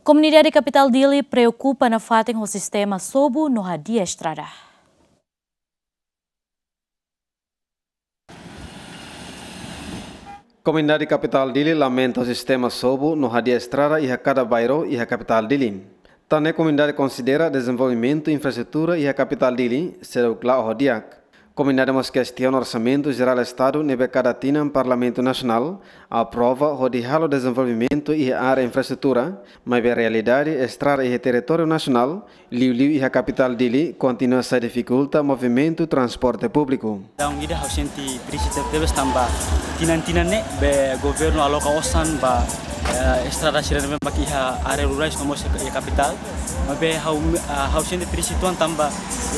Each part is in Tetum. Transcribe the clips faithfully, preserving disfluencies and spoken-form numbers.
Komunidade kapitál Dili preokupa nafatin ho sistema sobu no hadi'a estrada. Komunidade kapitál Dili lamenta ho sistema sobu no hadi'a estrada iha kada bairru iha kapitál Dili. Tan ne'e komunidade konsidera dezenvolvimentu infraestrutura iha kapitál Dili seidauk la'o ho di'ak. Komunidade mós kestiona orsamentu jerál Estadu ne'ebé kada tinan Parlamentu Nasionál aprova hodi halo dezenvolvimentu iha área infraestrutura, maibé realidade estrada iha territóriu nasionál, liuliu iha kapitál Dili, kontinua sai difikulta movimentu transporte públiku. Daudaun ida ha'u sente triste tebes tanba tinan-tinan ne'e be governu aloka osan ba, eh, estrada sira ne'ebé mak iha área rurais no mós iha kapitál. Maibé ha'u, ah, ha'u sente triste uitoan tanba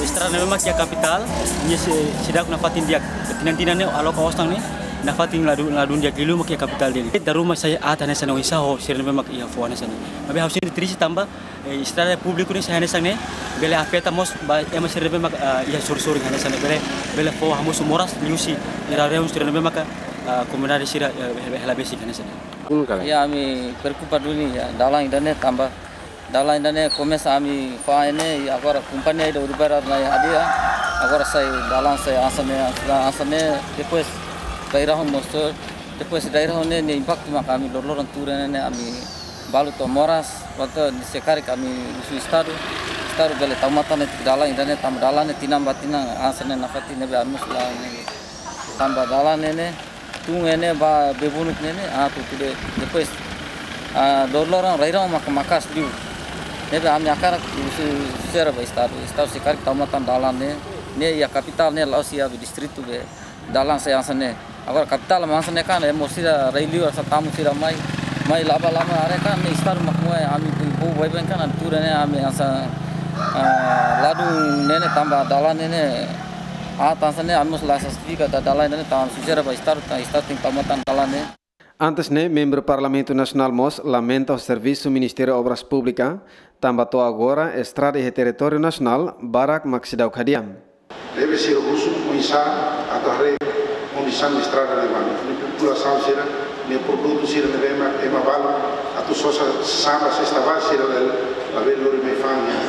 estrada ne'ebé mak iha kapitál, nia sei, seidauk nafatin di'ak. Tinan-tinan ne'e aloka osan ne'e nafatin ladún, ladún di'ak, liuliu mak iha kapitál Dili. Dala ruma sai aat hanesan ne'e, oinsá ho sira ne'ebé mak iha foho hanesan ne'e. Maibé ha'u sente triste tanba, eh, estrada públiku ne'e sai hanesan ne'e, bele afeta mós ba ema sira ne'ebé mak, ah, iha sorin-sorin hanesan ne'e, bele, bele fó hamosu moras liuhusi ira rehun sira ne'ebé mak, ah, komunidade sira, eh, hela, hela besik hanesan ne'e. Kun kala. Ya, ami preokupa duni ya, dalan ida-ne'e tanba dalan ida-ne'e komesa ami fó ne'e, i agora kompañia ida Uribarra mai hadi'a, agora sai dalan sai hanesan ne'e, hanesan ne'e, depois daerah mós, depois daerah ne'e, ne'e impaktu maka ami loroloron tuur ne'e, ne'e ami balu to'o moras, kuandu ne'e se karik ami husu Estadu, Estadu bele tau matan ne'e dalan ida-ne'e tanba dalan ne'e tinan ba tinan hanesan ne'e nafatin ne'ebé ami mós la ne'e. Tanba dalan ne'e ne'e, tun ne'e ne'e ba Bebunuk ne'e ne'e, ah, tutu de-, depois, ah, loroloron rai-rahun maka maka'as liu. Ne'ebé ami hakarak husu sira ba Estadu, Estadu se karik tau matan dalan ne'e, ne'e iha kapitál ne'e la'ós iha be distritu be dalan sai hanesan ne'e. Agora kapitál mak hanesan ne'e kan, ema sira rai-liur hanesan tamu sira mai, mai la'o ba lama are kan, ne'e Estadu mak moe ami pun povu baibain kan, ami tuur ne'e ami hanesan, ah, ladún ne'e ne'e tanba dalan ne'e ne'e, ah, hanesan ne'e ami mós la satisfeita dalan ne'e ne'e tanba husu sira ba Estadu, tan Estadu tenke tau matan dalan ne'e. Antes ne'e, membru Parlamentu Nasionál mós lamenta ho servisu Ministériu Obras Públikas, tanba to'o agora estrada iha territóriu nasionál barak mak seidauk hadi'a. Ne'ebé sira husu oinsá atu haree kondisaun estrada ne'ebá. Ne'e populasaun sira, ne'e produtu sira ne'ebé ema, ema balu atu sosa samba sesta ba sira la, labele lori mai fa'an iha,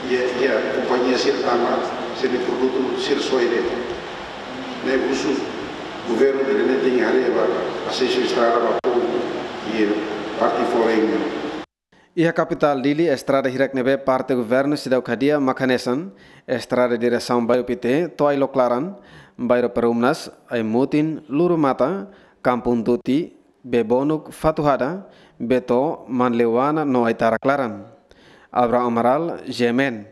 iha, iha kompañia sira tanba sira-nia produtu sira soe de'it. Ne'e husu governu ida-ne'e tenke haree ba asesu estrada ba povu iha parte foreign. Iha kapitál Dili, estrada hirak ne'ebé parte governu seidauk hadi'a mak hanesan estrada diresaun Bairru Pité to'o Ailok Laran, Bairru Perumnas, Aimutin, Lurumata, Kampung Tuti, Bebonuk, Fatuhada, Beto, Manleuana no Aitarak Laran. Abraham Amaral, G M N.